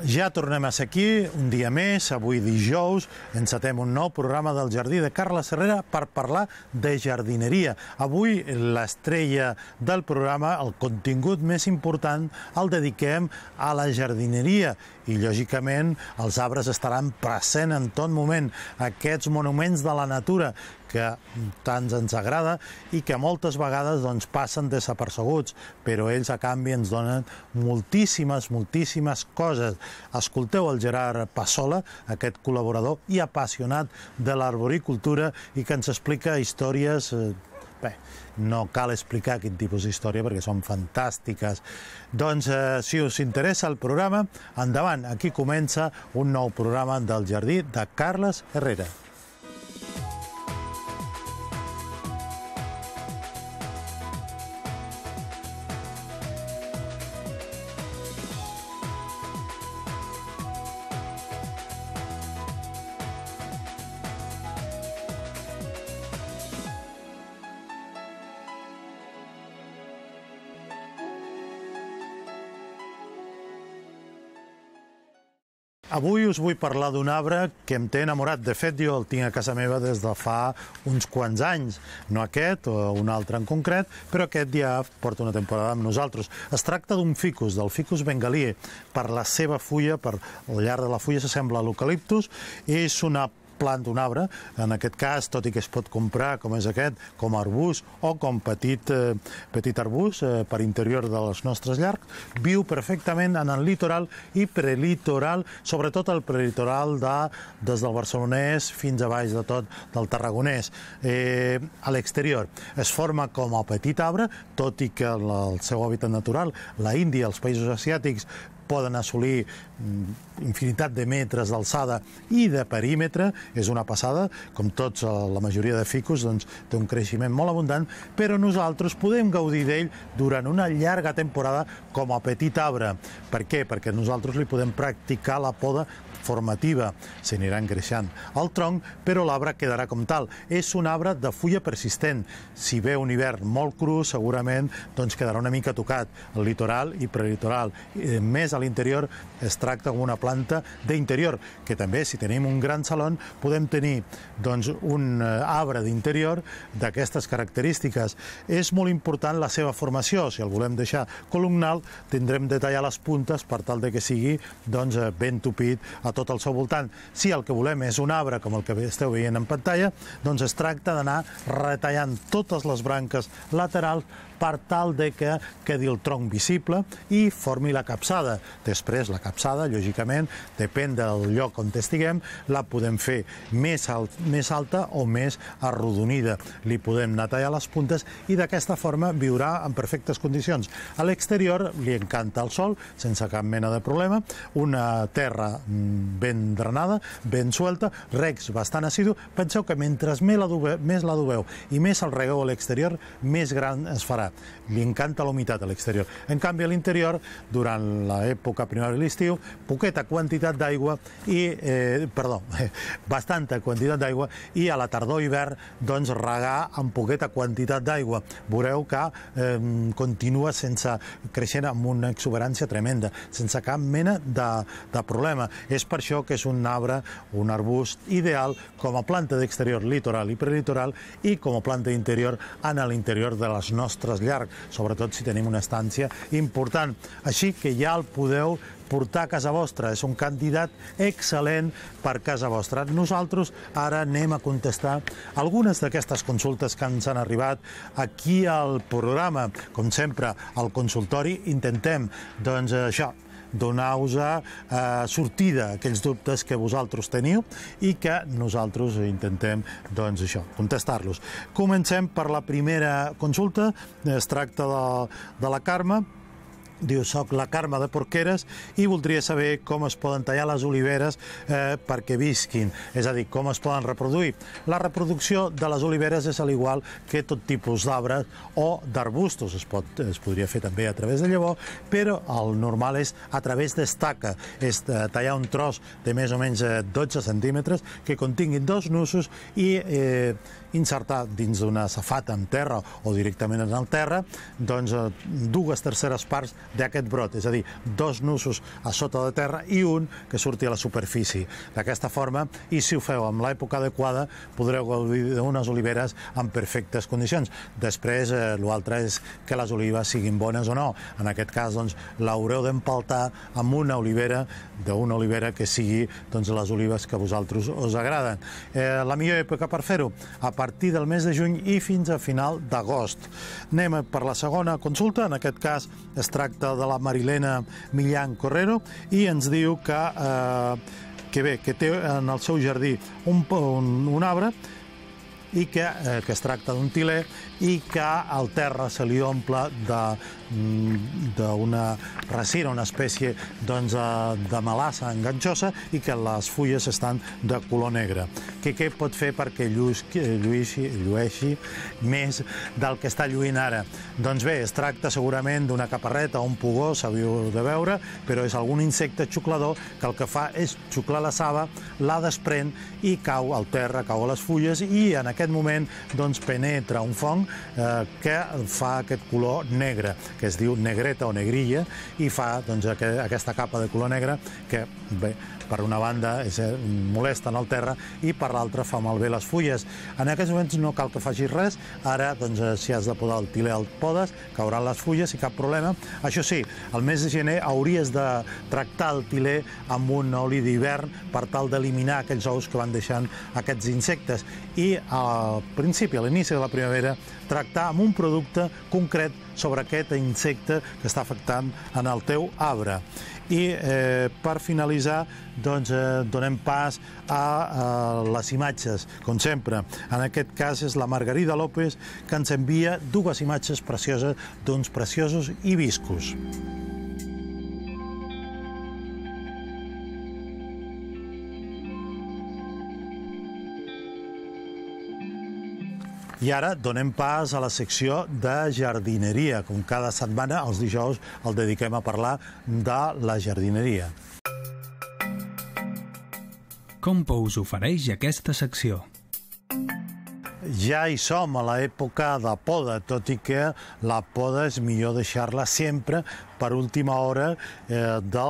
Ja tornem a ser aquí, un dia més, avui dijous, encetem un nou programa del Jardí de Carles Herrera per parlar de jardineria. Avui l'estrella del programa, el contingut més important, el dediquem a la jardineria i, lògicament, els arbres estaran presents en tot moment, aquests monuments de la natura que tant ens agrada i que moltes vegades passen desapercebuts, però ells a canvi ens donen moltíssimes coses. Escolteu el Gerard Passola, aquest col·laborador i apassionat de l'arboricultura i que ens explica històries... Bé, no cal explicar quin tipus d'història perquè són fantàstiques. Doncs, si us interessa el programa, endavant, aquí comença un nou programa del Jardí de Carles Herrera. Avui us vull parlar d'un arbre que em té enamorat. De fet, jo el tinc a casa meva des de fa uns quants anys. No aquest, o un altre en concret, però aquest ja porta una temporada amb nosaltres. Es tracta d'un ficus, del ficus bengalí. Per la seva fulla, per al llarg de la fulla s'assembla a l'eucaliptus. És una planta, un arbre, en aquest cas, tot i que es pot comprar, com és aquest, com a arbust o com petit arbust per interior dels nostres llacs, viu perfectament en el litoral i prelitoral, sobretot el prelitoral des del barcelonès fins a baix de tot del tarragonès. A l'exterior es forma com a petit arbre, tot i que el seu hàbitat natural, la Índia, els països asiàtics, poden assolir infinitat de metres d'alçada i de perímetre, és una passada, com tots, la majoria de ficus, té un creixement molt abundant, però nosaltres podem gaudir d'ell durant una llarga temporada com a petit arbre. Per què? Perquè nosaltres li podem practicar la poda formativa, se n'irà engreixant el tronc, però l'arbre quedarà com tal. És un arbre de fulla persistent. Si ve un hivern molt cru, segurament quedarà una mica tocat, el litoral i prelitoral. Més a l'interior es tracta com una planta d'interior, que també, si tenim un gran saló, podem tenir un arbre d'interior d'aquestes característiques. És molt important la seva formació. Si el volem deixar columnal, tindrem de tallar les puntes per tal que sigui ben tupit a tot el seu voltant. Si el que volem és un arbre, com el que esteu veient en pantalla, es tracta d'anar retallant totes les branques laterals per tal que quedi el tronc visible i formi la capçada. Després, la capçada, lògicament, depèn del lloc on estiguem, la podem fer més alta o més arrodonida. Li podem anar tallar les puntes i d'aquesta forma viurà en perfectes condicions. A l'exterior li encanta el sol, sense cap mena de problema, una terra ben drenada, ben suelta, regs bastant assidu. Penseu que mentre més l'adobeu i més el regueu a l'exterior, més gran es farà. Li encanta la humitat a l'exterior. En canvi, a l'interior, durant l'època primavera i l'estiu, poqueta quantitat d'aigua bastanta quantitat d'aigua, i a la tardor i hivern, regar amb poqueta quantitat d'aigua. Veureu que continua creixent amb una exuberància tremenda, sense cap mena de problema. És per això que és un arbre, un arbust ideal com a planta d'exterior litoral i prelitoral i com a planta d'interior en l'interior de les nostres llacs, sobretot si tenim una estància important. Així que ja el podeu portar a casa vostra. És un candidat excel·lent per casa vostra. Nosaltres ara anem a contestar algunes d'aquestes consultes que ens han arribat aquí al programa. Com sempre, al consultori intentem, donar-vos sortida a aquells dubtes que vosaltres teniu i que nosaltres intentem contestar-los. Comencem per la primera consulta. Es tracta de la Carme. Diu, soc la Carme de Porqueres i voldria saber com es poden tallar les oliveres perquè visquin, és a dir, com es poden reproduir. La reproducció de les oliveres és al igual que tot tipus d'arbres o d'arbustos. Es podria fer també a través de llavor, però el normal és a través d'estaca. És tallar un tros de més o menys 12 centímetres que continguin dos nusos i insertar dins d'una safata en terra o directament en el terra 2/3 parts d'aquest brot, és a dir, 2 nusos a sota de terra i un que surti a la superfície. D'aquesta forma, i si ho feu amb l'època adequada, podreu gaudir d'unes oliveres en perfectes condicions. Després, l'altre és que les olives siguin bones o no. En aquest cas, doncs, l'haureu d'empaltar amb una olivera, que sigui les olives que a vosaltres us agraden. La millor època per fer-ho, a partir del mes de juny i fins a final d'agost. Anem per la segona consulta, en aquest cas es tracta de la Marilena Millán Correro i ens diu que té en el seu jardí un arbre i que es tracta d'un tiler i que al terra se li omple d'una resina, una espècie de melassa enganxosa i que les fulles estan de color negre. Què pot fer perquè llueixi més del que està lluint ara? Doncs bé, es tracta segurament d'una caparreta o un pugó, s'havíeu de veure, però és algun insecte xuclador que el que fa és xuclar la saba, la desprèn i cau al terra, cau a les fulles i en aquest moment penetra un fong que fa aquest color negre, que es diu negreta o negrilla, i fa aquesta capa de color negre que, bé, per una banda molesta en el terra i per l'altra fa malbé les fulles. En aquests moments no cal que facis res, ara si has de podar el tiler el podes, cauran les fulles i cap problema. Això sí, al mes de gener hauries de tractar el tiler amb un oli d'hivern per tal d'eliminar aquells ous que van deixant aquests insectes i al principi, a l'inici de la primavera, tractar amb un producte concret sobre aquest insecte que està afectant en el teu arbre. I per finalitzar donem pas a les imatges, com sempre. En aquest cas és la Margarida López que ens envia 2 imatges precioses d'uns preciosos hibiscus. I ara donem pas a la secció de jardineria. Com cada setmana, els dijous el dediquem a parlar de la jardineria. Compo us ofereix aquesta secció. Ja hi som a l'època de poda, tot i que la poda és millor deixar-la sempre per última hora de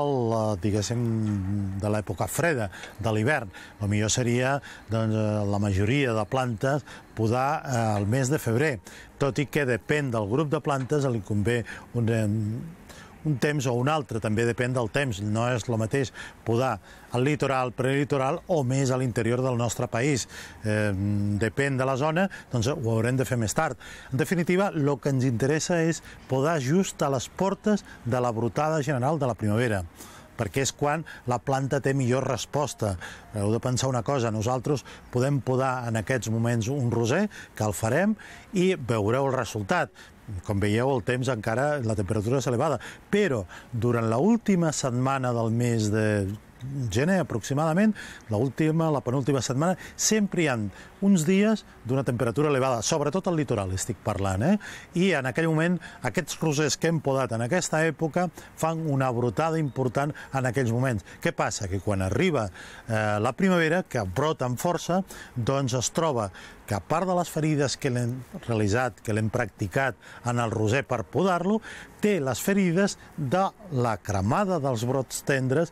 l'època freda, de l'hivern. El millor seria, la majoria de plantes, podar al mes de febrer, tot i que depèn del grup de plantes, li convé un temps o un altre, també depèn del temps, no és el mateix podar al litoral, prelitoral o més a l'interior del nostre país. Depèn de la zona, doncs ho haurem de fer més tard. En definitiva, el que ens interessa és podar just a les portes de la brotada general de la primavera, perquè és quan la planta té millor resposta. Heu de pensar una cosa, nosaltres podem podar en aquests moments un roser, que el farem, i veureu el resultat. Com veieu, el temps encara, la temperatura és elevada, però durant l'última setmana del mes de gener, aproximadament, la penúltima setmana, sempre hi ha uns dies d'una temperatura elevada, sobretot al litoral, estic parlant, i en aquell moment aquests rosers que hem podat en aquesta època fan una brotada important en aquells moments. Què passa? Que quan arriba la primavera, que brota amb força, doncs es troba que a part de les ferides que l'hem realitzat, que l'hem practicat en el roser per podar-lo, té les ferides de la cremada dels brots tendres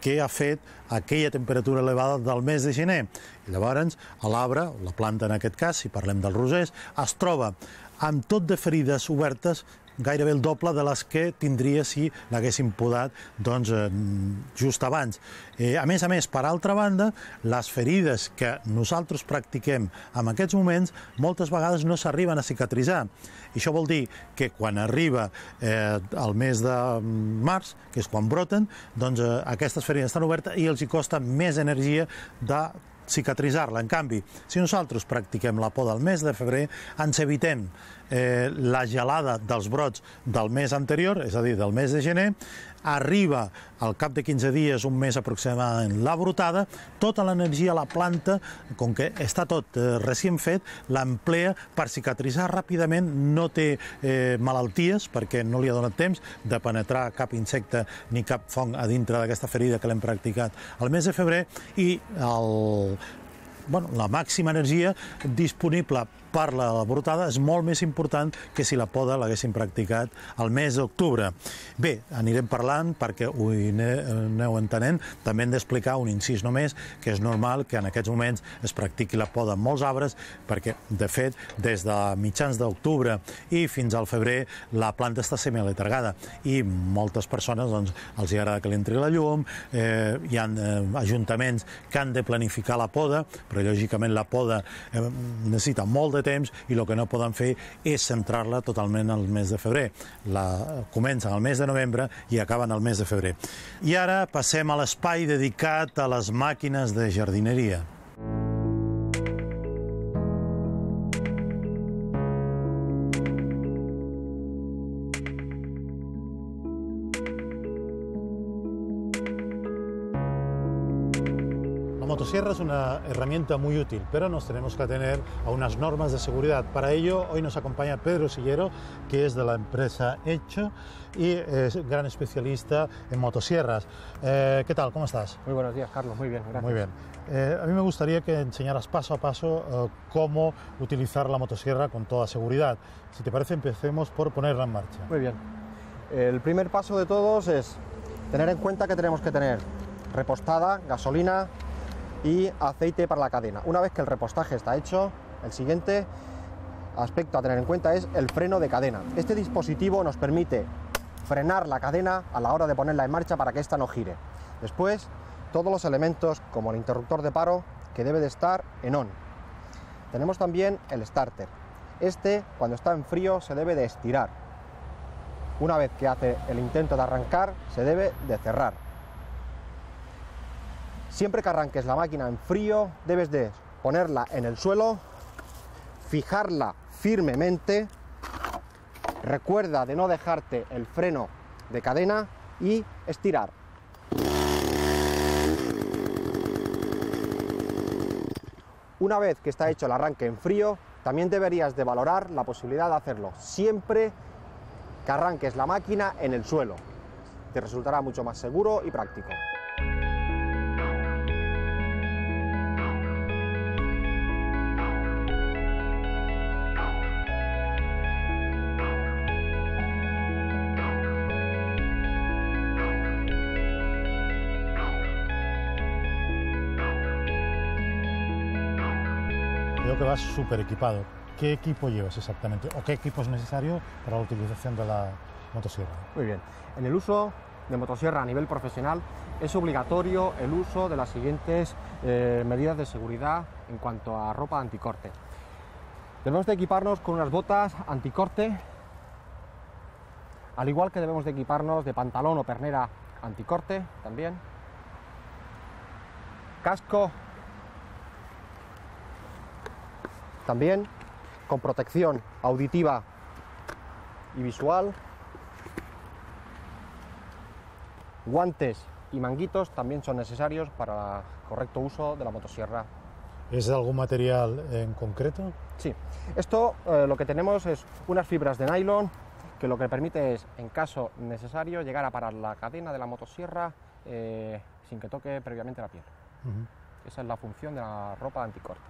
que ha fet aquella temperatura elevada del mes de gener. I llavors, l'arbre, la planta en aquest cas, si parlem dels rosers, es troba amb tot de ferides obertes, gairebé el doble de les que tindria si l'haguéssim podat just abans. A més, per altra banda, les ferides que nosaltres practiquem en aquests moments moltes vegades no s'arriben a cicatritzar. I això vol dir que quan arriba el mes de març, que és quan broten, doncs aquestes ferides estan obertes i els hi costa més energia de cicatritzar-la. En canvi, si nosaltres practiquem la poda al mes de febrer, ens evitem la gelada dels brots del mes anterior, és a dir, del mes de gener, arriba al cap de 15 dies, un mes aproximadament, la brotada, tota l'energia a la planta, com que està tot recient fet, l'emplea per cicatritzar ràpidament, no té malalties, perquè no li ha donat temps de penetrar cap insecte ni cap fong a dintre d'aquesta ferida que l'hem practicat al mes de febrer, i la màxima energia disponible parla de la portada és molt més important que si la poda l'haguessin practicat al mes d'octubre. Bé, anirem parlant perquè ho aneu entenent. També hem d'explicar un incís només, que és normal que en aquests moments es practiqui la poda en molts arbres, perquè, de fet, des de mitjans d'octubre i fins al febrer la planta està semialetargada i moltes persones doncs, els agrada que li entri la llum, hi ha ajuntaments que han de planificar la poda, però lògicament la poda necessita molt de temps i el que no poden fer és centrar-la totalment al mes de febrer. Comencen al mes de novembre i acaben al mes de febrer. I ara passem a l'espai dedicat a les màquines de jardineria. La motosierra es una herramienta muy útil, pero nos tenemos que atener a unas normas de seguridad. Para ello, hoy nos acompaña Pedro Sillero, que es de la empresa Hecho y es gran especialista en motosierras. ¿Qué tal? ¿Cómo estás? Muy buenos días, Carlos. Muy bien, gracias. Muy bien. A mí me gustaría que enseñaras paso a paso cómo utilizar la motosierra con toda seguridad. Si te parece, empecemos por ponerla en marcha. Muy bien. El primer paso de todos es tener en cuenta que tenemos que tener repostada, gasolina y aceite para la cadena. Una vez que el repostaje está hecho, el siguiente aspecto a tener en cuenta es el freno de cadena. Este dispositivo nos permite frenar la cadena a la hora de ponerla en marcha para que ésta no gire. Después, todos los elementos como el interruptor de paro, que debe de estar en on. Tenemos también el starter. Este, cuando está en frío, se debe de estirar. Una vez que hace el intento de arrancar, se debe de cerrar. Siempre que arranques la máquina en frío, debes de ponerla en el suelo, fijarla firmemente, recuerda de no dejarte el freno de cadena y estirar. Una vez que está hecho el arranque en frío, también deberías de valorar la posibilidad de hacerlo siempre que arranques la máquina en el suelo. Te resultará mucho más seguro y práctico. Veo que vas súper equipado. ¿Qué equipo llevas exactamente? ¿O qué equipo es necesario para la utilización de la motosierra? Muy bien. En el uso de motosierra a nivel profesional es obligatorio el uso de las siguientes medidas de seguridad en cuanto a ropa anticorte. Debemos de equiparnos con unas botas anticorte, al igual que debemos de equiparnos de pantalón o pernera anticorte también, casco también con protección auditiva y visual, guantes y manguitos también son necesarios para el correcto uso de la motosierra. ¿Es de algún material en concreto? Sí, esto lo que tenemos es unas fibras de nylon que lo que permite es, en caso necesario, llegar a parar la cadena de la motosierra sin que toque previamente la piel. Esa es la función de la ropa anticorte.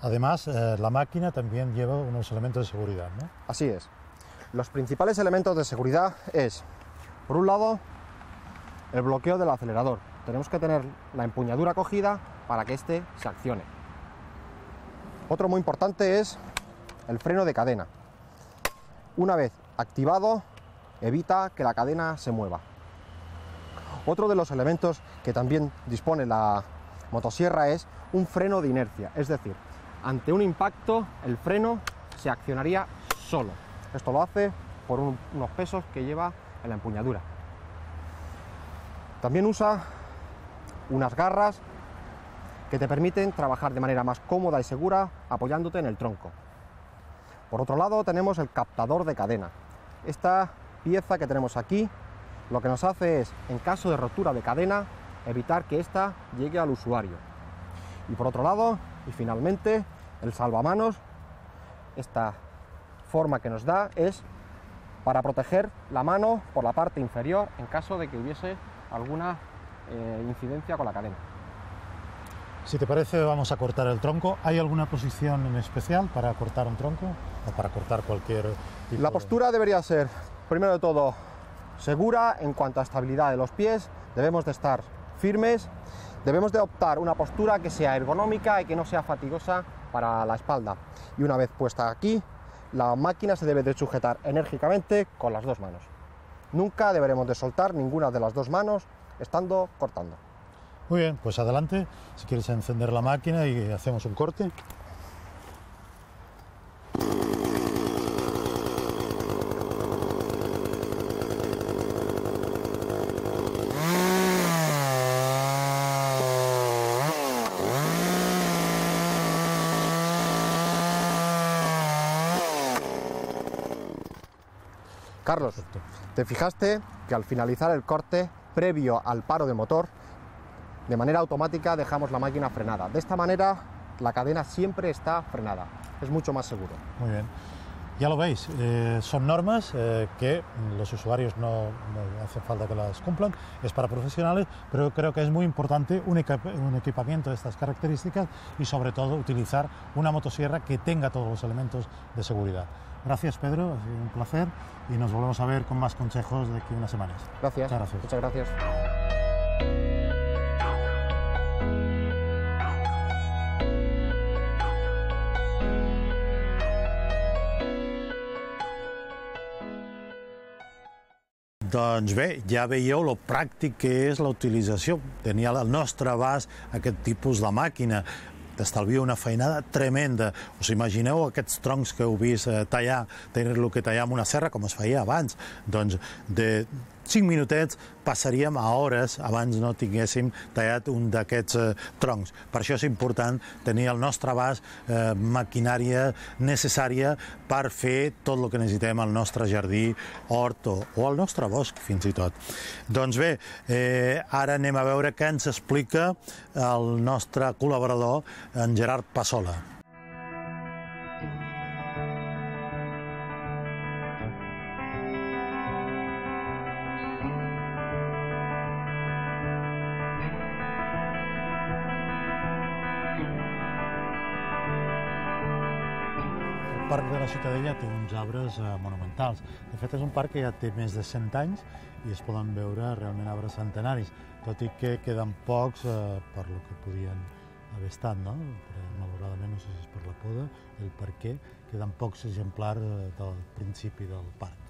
Además, la máquina también lleva unos elementos de seguridad, ¿no? Así es. Los principales elementos de seguridad es, por un lado, el bloqueo del acelerador. Tenemos que tener la empuñadura cogida para que éste se accione. Otro muy importante es el freno de cadena. Una vez activado, evita que la cadena se mueva. Otro de los elementos que también dispone la motosierra es un freno de inercia, es decir, ante un impacto el freno se accionaría solo. Esto lo hace por unos pesos que lleva en la empuñadura. También usa unas garras que te permiten trabajar de manera más cómoda y segura apoyándote en el tronco. Por otro lado tenemos el captador de cadena. Esta pieza que tenemos aquí lo que nos hace es, en caso de rotura de cadena, evitar que ésta llegue al usuario. Y por otro lado, y finalmente, el salvamanos. Esta forma que nos da es para proteger la mano por la parte inferior en caso de que hubiese alguna incidencia con la cadena. Si te parece, vamos a cortar el tronco. ¿Hay alguna posición en especial para cortar un tronco o para cortar cualquier tipo? La postura debería ser, primero de todo, segura en cuanto a estabilidad de los pies. Debemos de estar firmes. Debemos de optar una postura que sea ergonómica y que no sea fatigosa para la espalda. Y una vez puesta aquí, la máquina se debe de sujetar enérgicamente con las dos manos. Nunca deberemos de soltar ninguna de las dos manos estando cortando. Muy bien, pues adelante, si quieres encender la máquina y hacemos un corte. Carlos, te fijaste que al finalizar el corte, previo al paro de motor, de manera automática dejamos la máquina frenada. De esta manera la cadena siempre está frenada, es mucho más seguro. Muy bien, ya lo veis, son normas que los usuarios no hace falta que las cumplan, es para profesionales, pero creo que es muy importante un equipamiento de estas características y sobre todo utilizar una motosierra que tenga todos los elementos de seguridad. Gracias, Pedro, ha sido un placer y nos volvemos a ver con más consejos de aquí a unas semanas. Gracias. Muchas gracias. Doncs bé, ja veieu lo pràctic que és la utilització. Tenia al nostre abast aquest tipus de màquina. T'estalvia una feinada tremenda. Us imagineu aquests troncs que heu vist tallar, tenir-lo que tallar amb una serra com es feia abans? Doncs de 5 minutets passaríem a hores abans no tinguéssim tallat un d'aquests troncs. Per això és important tenir al nostre abast maquinària necessària per fer tot el que necessitem al nostre jardí, hort o al nostre bosc, fins i tot. Doncs bé, ara anem a veure què ens explica el nostre col·laborador, en Gerard Passola. El Parc de la Ciutadella té uns arbres monumentals. De fet, és un parc que ja té més de 100 anys i es poden veure realment arbres centenaris, tot i que queden pocs per lo que podien haver estat, no? Malauradament, no sé si és per la poda, el per què, queden pocs exemplars del principi del parc.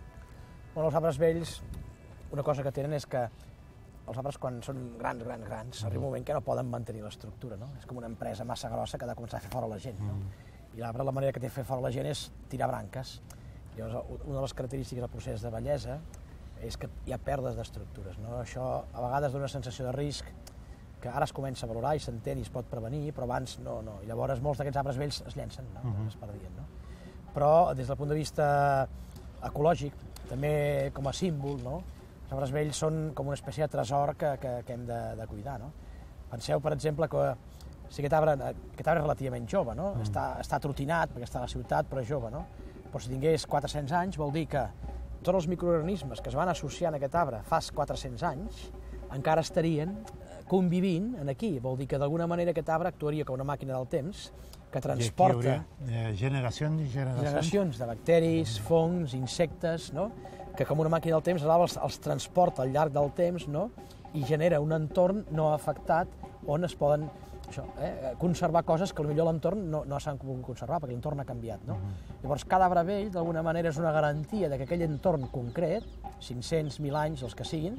Bueno, els arbres vells, una cosa que tenen és que els arbres, quan són grans, arriba un moment que no poden mantenir l'estructura, no? És com una empresa massa grossa que ha de començar a fer fora la gent, no? I l'arbre, la manera que té de fer fora la gent és tirar branques. Llavors, una de les característiques del procés de vellesa és que hi ha pèrdues d'estructures, no? Això a vegades dona una sensació de risc que ara es comença a valorar i s'entén i es pot prevenir, però abans no. I llavors molts d'aquests arbres vells es llencen, no? Es perdien, no? Però des del punt de vista ecològic, també com a símbol, no? Els arbres vells són com una espècie de tresor que hem de cuidar, no? Penseu, per exemple, que si aquest arbre és relativament jove, no? Està trotinat perquè està a la ciutat, però és jove, no? Però si tingués 400 anys vol dir que tots els microorganismes que es van associar a aquest arbre fa 400 anys encara estarien convivint aquí. Vol dir que d'alguna manera aquest arbre actuaria com una màquina del temps que transporta generacions de bacteris, fongs, insectes, no? Que com una màquina del temps els transporta al llarg del temps, no? I genera un entorn no afectat on es poden conservar coses que potser l'entorn no s'han pogut conservar perquè l'entorn ha canviat, no? Llavors, cada arbre vell, d'alguna manera, és una garantia que aquell entorn concret, 500, 1.000 anys, els que siguin,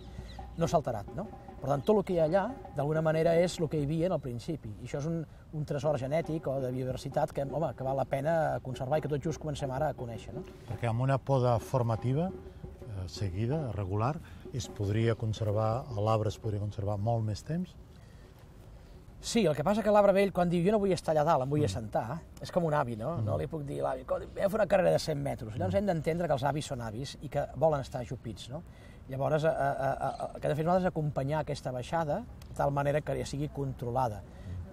no s'ha alterat, no? Per tant, tot el que hi ha allà, d'alguna manera, és el que hi havia al principi. I això és un tresor genètic o de biodiversitat que val la pena conservar i que tot just comencem ara a conèixer, no? Perquè amb una poda formativa seguida, regular, l'arbre es podria conservar molt més temps? Sí, el que passa que l'arbre vell, quan diu jo no vull estar allà dalt, em vull assentar, és com un avi, no? No li puc dir a l'avi, vam fer una carrera de 100 metres. Llavors hem d'entendre que els avis són avis i que volen estar ajupits, no? Llavors, el que hem de fer nosaltres és acompanyar aquesta baixada de tal manera que ja sigui controlada.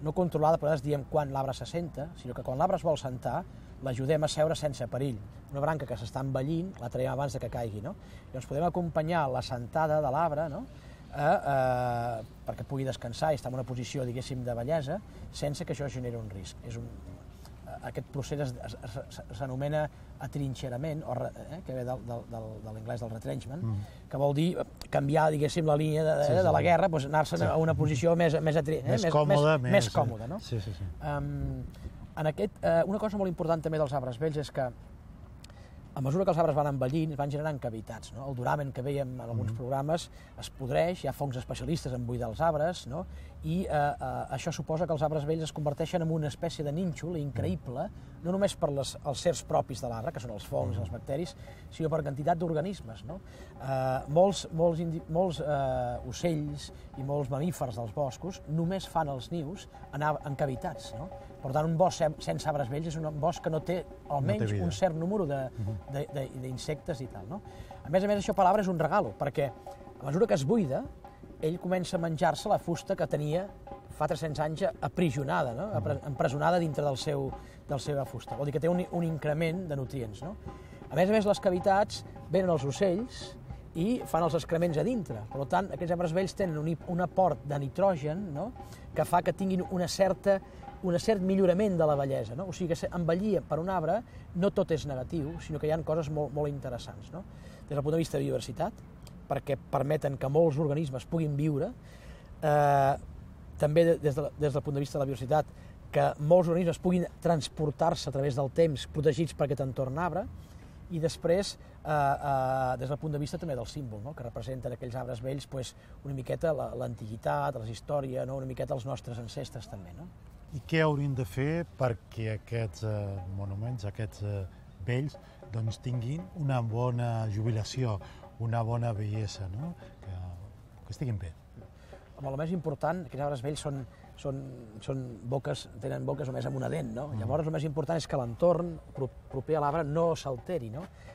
No controlada, però nosaltres diem quan l'arbre s'assenta, sinó que quan l'arbre es vol sentar, l'ajudem a seure sense perill. Una branca que s'està envellint, la traiem abans que caigui, no? Llavors podem acompanyar la sentada de l'arbre, no? perquè pugui descansar i estar en una posició, diguéssim, de bellesa, sense que això generi un risc. Aquest procés s'anomena atrinxerament, que ve de l'anglès del retrenchment, que vol dir canviar, diguéssim, la línia de la guerra, anar-se'n a una posició més còmoda. Una cosa molt important també dels arbres vells és que a mesura que els arbres van envellint, van generant cavitats. El duramen que veiem en alguns programes es podreix, hi ha fongs especialistes en buidar els arbres, i això suposa que els arbres vells es converteixen en una espècie de nínxol increïble, no només per els certs propis de l'arbre, que són els fongs, els bacteris, sinó per quantitat d'organismes. Molts ocells i molts mamífers dels boscos només fan els nius en cavitats. Per tant, un bosc sense arbres vells és un bosc que no té almenys un cert número d'insectes i tal. A més, això per l'arbre és un regalo, perquè a mesura que es buida, ell comença a menjar-se la fusta que tenia fa 300 anys aprisionada, empresonada dintre de la seva fusta. Vol dir que té un increment de nutrients. A més, les cavitats venen els ocells i fan els excrements a dintre. Per tant, aquests arbres vells tenen un aport de nitrogen que fa que tinguin un cert millorament de la bellesa. O sigui que envellir per un arbre no tot és negatiu, sinó que hi ha coses molt interessants. Des del punt de vista de biodiversitat, perquè permeten que molts organismes puguin viure, també des del punt de vista de la biodiversitat, que molts organismes puguin transportar-se a través del temps protegits per aquest entorn arbre, i després, des del punt de vista també del símbol, que representen aquells arbres vells una miqueta l'antiguitat, la història, una miqueta els nostres ancestres també. I què hauríem de fer perquè aquests monuments, aquests vells, tinguin una bona jubilació, una bona bellesa, que estiguin bé? El més important, aquests arbres vells tenen boques només amb una dent. Llavors, el més important és que l'entorn proper a l'arbre no s'alteri.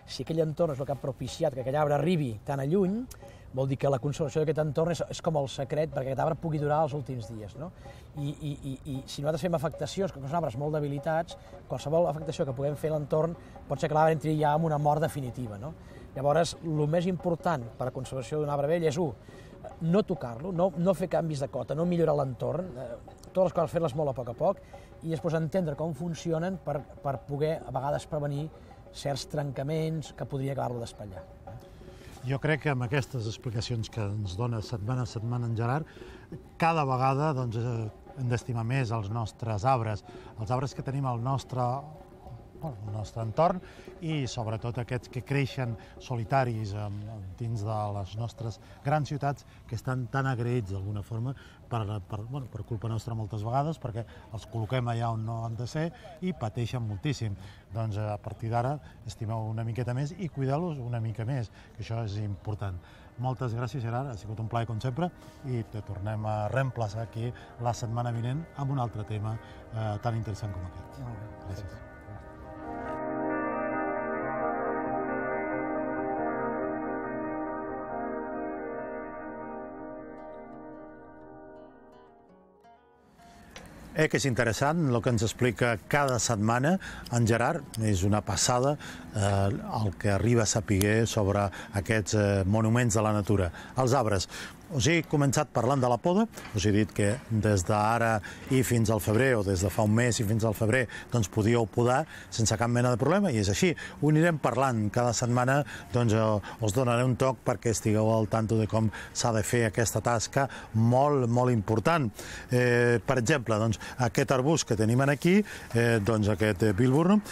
Si aquell entorn és el que ha propiciat que aquell arbre arribi tan a lluny, vol dir que la conservació d'aquest entorn és com el secret perquè aquest arbre pugui durar els últims dies. I si nosaltres fem afectacions, que són arbres molt debilitats, qualsevol afectació que puguem fer a l'entorn pot ser que l'arbre entri ja en una mort definitiva. Llavors, el més important per a la conservació d'un arbre vell és, no tocar-lo, no fer canvis de cota, no millorar l'entorn, totes les coses fer-les molt a poc, i després entendre com funcionen per poder, a vegades, prevenir certs trencaments que podria acabar-lo d'espatllar. Jo crec que amb aquestes explicacions que ens dona setmana a setmana en Gerard, cada vegada hem d'estimar més els nostres arbres, els arbres que tenim al nostre entorn i sobretot aquests que creixen solitaris dins de les nostres grans ciutats que estan tan agraïts d'alguna forma per culpa nostra moltes vegades perquè els col·loquem allà on no han de ser i pateixen moltíssim. Doncs a partir d'ara estimeu una miqueta més i cuideu-los una mica més, que això és important. Moltes gràcies, Gerard, ha sigut un plaer com sempre i te tornem a reemplaçar aquí la setmana vinent amb un altre tema tan interessant com aquest. Gràcies. Que és interessant el que ens explica cada setmana en Gerard, és una passada el que arriba a saber sobre aquests monuments de la natura. Els arbres. Us he començat parlant de la poda, us he dit que des d'ara i fins al febrer, o des de fa un mes i fins al febrer, doncs podíeu podar sense cap mena de problema, i és així. Ho anirem parlant cada setmana, doncs us donaré un toc perquè estigueu al tanto de com s'ha de fer aquesta tasca molt, molt important. Per exemple, doncs, aquest arbust que tenim aquí, doncs aquest Wilburnum,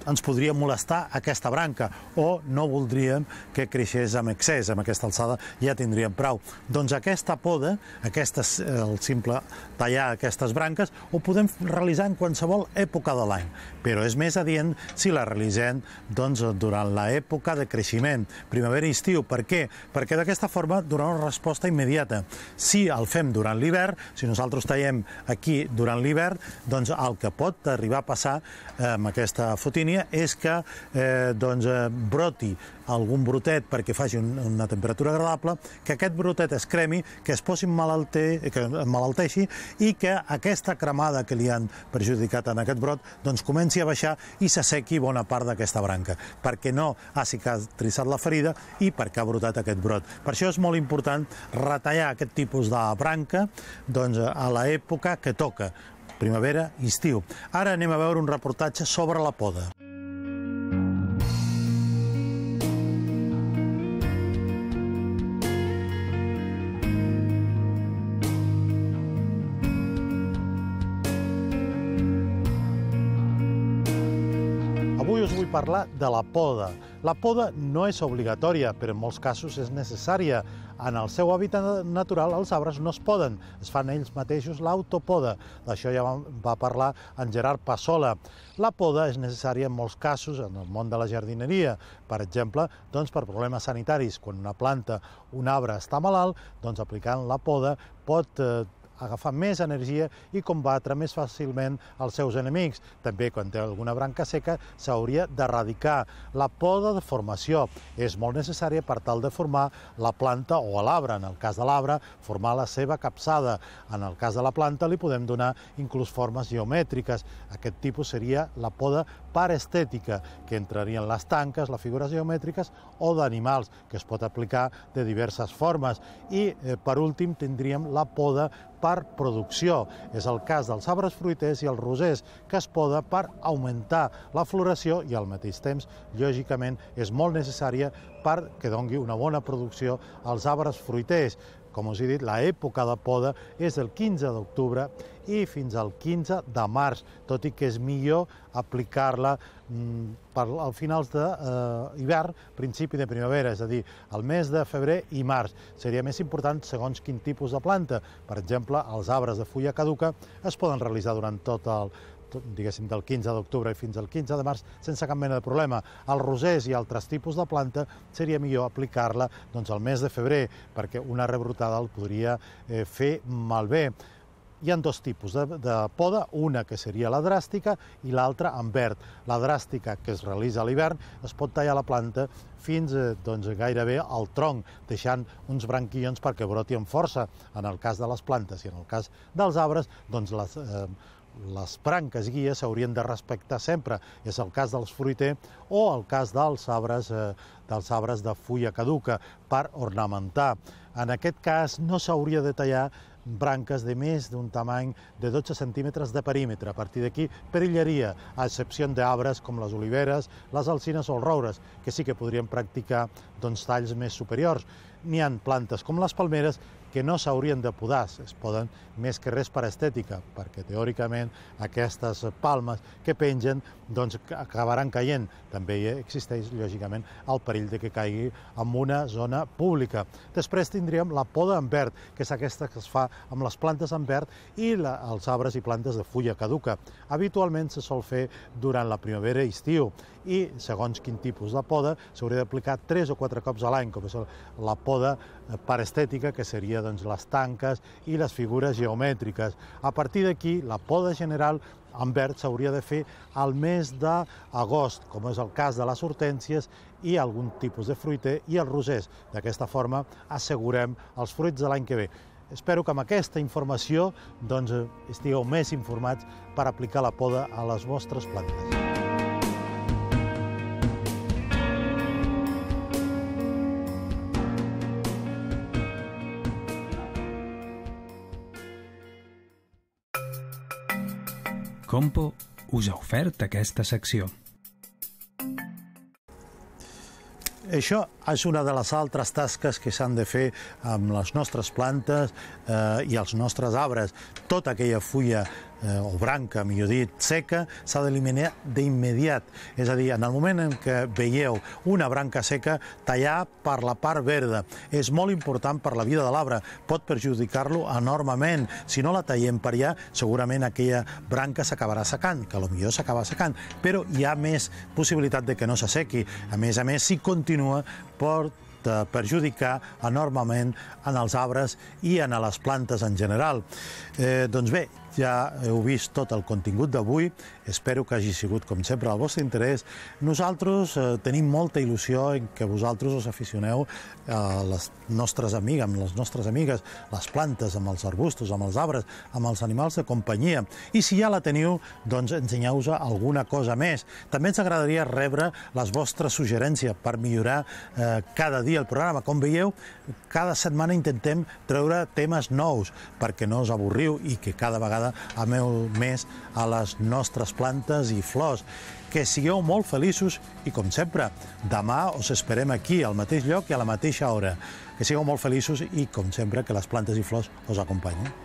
ens podria molestar aquesta branca o no voldríem que creixés amb excés, amb aquesta alçada ja tindríem prou. Doncs aquesta poda, el simple tallar aquestes branques, ho podem realitzar en qualsevol època de l'any, però és més adient si la realitzem durant l'època de creixement, primavera i estiu. Per què? Perquè d'aquesta forma donarà una resposta immediata. Si el fem durant l'hivern, si nosaltres tallem aquí durant l'hivern, doncs el que pot arribar a passar amb aquesta fotínia economia és que broti algun brotet perquè faci una temperatura agradable, que aquest brotet es cremi, que es posi emmalalteixi i que aquesta cremada que li han perjudicat en aquest brot comenci a baixar i s'assequi bona part d'aquesta branca, perquè no ha cicatritzat la ferida i perquè ha brotat aquest brot. Per això és molt important retallar aquest tipus de branca a l'època que toca, primavera i estiu. Ara anem a veure un reportatge sobre la poda. Avui us vull parlar de la poda. La poda no és obligatòria, però en molts casos és necessària. En el seu hàbitat natural els arbres no es poden, es fan ells mateixos l'autopoda. D'això ja va parlar en Gerard Passola. La poda és necessària en molts casos en el món de la jardineria. Per exemple, per problemes sanitaris. Quan una planta, un arbre està malalt, aplicant la poda pot agafar més energia i combatre més fàcilment els seus enemics. També, quan té alguna branca seca, s'hauria d'erradicar. La poda de formació és molt necessària per tal de formar la planta o l'arbre. En el cas de l'arbre, formar la seva capçada. En el cas de la planta, li podem donar inclús formes geomètriques. Aquest tipus seria la poda parestètica, que entrarien les tanques, les figures geomètriques o d'animals, que es pot aplicar de diverses formes. I, per últim, tindríem la poda per producció. És el cas dels arbres fruiters i els rosers, que es poda per augmentar la floració i al mateix temps, lògicament, és molt necessària perquè doni una bona producció als arbres fruiters. Com us he dit, l'època de poda és del 15 d'octubre i fins al 15 de març, tot i que és millor aplicar-la al finals d'hivern, principi de primavera, és a dir, al mes de febrer i març. Seria més important segons quin tipus de planta. Per exemple, els arbres de fulla caduca es poden realitzar durant tot diguéssim, del 15 d'octubre fins al 15 de març, sense cap mena de problema. Els rosers i altres tipus de planta seria millor aplicar-la al mes de febrer, perquè una rebrotada el podria fer malbé. Hi ha dos tipus de poda, una que seria la dràstica i l'altra en verd. La dràstica, que es realitza a l'hivern, es pot tallar la planta fins gairebé al tronc, deixant uns branquillons perquè broti amb força. En el cas de les plantes i en el cas dels arbres, les branques guies s'haurien de respectar sempre. És el cas dels fruiters o el cas dels arbres de fulla caduca per ornamentar. En aquest cas no s'hauria de tallar branques de més d'un tamany de 12 centímetres de perímetre. A partir d'aquí perillaria, a excepció d'arbres com les oliveres, les alzines o els roures, que sí que podrien practicar talls més superiors. N'hi ha plantes com les palmeres que no s'haurien de podar, es poden més que res per estètica, perquè teòricament aquestes palmes que pengen acabaran caient. També existeix, lògicament, el perill de que caigui en una zona pública. Després tindríem la poda en verd, que és aquesta que es fa amb les plantes en verd i els arbres i plantes de fulla caduca. Habitualment se sol fer durant la primavera i estiu i, segons quin tipus de poda, s'hauria d'aplicar 3 o 4 cops a l'any, com és la poda parestètica, que seria les tanques i les figures geomètriques. A partir d'aquí, la poda general en verd s'hauria de fer al mes d'agost, com és el cas de les hortènsies i algun tipus de fruiter i els rosers. D'aquesta forma assegurem els fruits de l'any que ve. Espero que amb aquesta informació estigueu més informats per aplicar la poda a les vostres plantes. Compo us ha ofert aquesta secció. Això és una de les altres tasques que s'han de fer amb les nostres plantes i els nostres arbres. Tota aquella fulla o branca, millor dit, seca, s'ha d'eliminar d'immediat. És a dir, en el moment en què veieu una branca seca, tallar per la part verda. És molt important per la vida de l'arbre. Pot perjudicar-lo enormement. Si no la tallem per allà, segurament aquella branca s'acabarà secant, que potser s'acaba secant, però hi ha més possibilitat de que no s'assequi. A més, si continua, pot perjudicar enormement en els arbres i en les plantes en general. Doncs bé, ja heu vist tot el contingut d'avui, espero que hagi sigut, com sempre, al vostre interès. Nosaltres tenim molta il·lusió en que vosaltres us aficioneu a les nostres amigues, amb les nostres amigues, les plantes, amb els arbustos, amb els arbres, amb els animals de companyia. I si ja la teniu, doncs ensenyeu-vos alguna cosa més. També ens agradaria rebre les vostres suggerències per millorar cada dia el programa. Com veieu, cada setmana intentem treure temes nous perquè no us avorriu i que cada vegada ameu més a les nostres plantes i flors. Que sigueu molt feliços i, com sempre, demà us esperem aquí, al mateix lloc i a la mateixa hora. Que sigueu molt feliços i, com sempre, que les plantes i flors us acompanyin.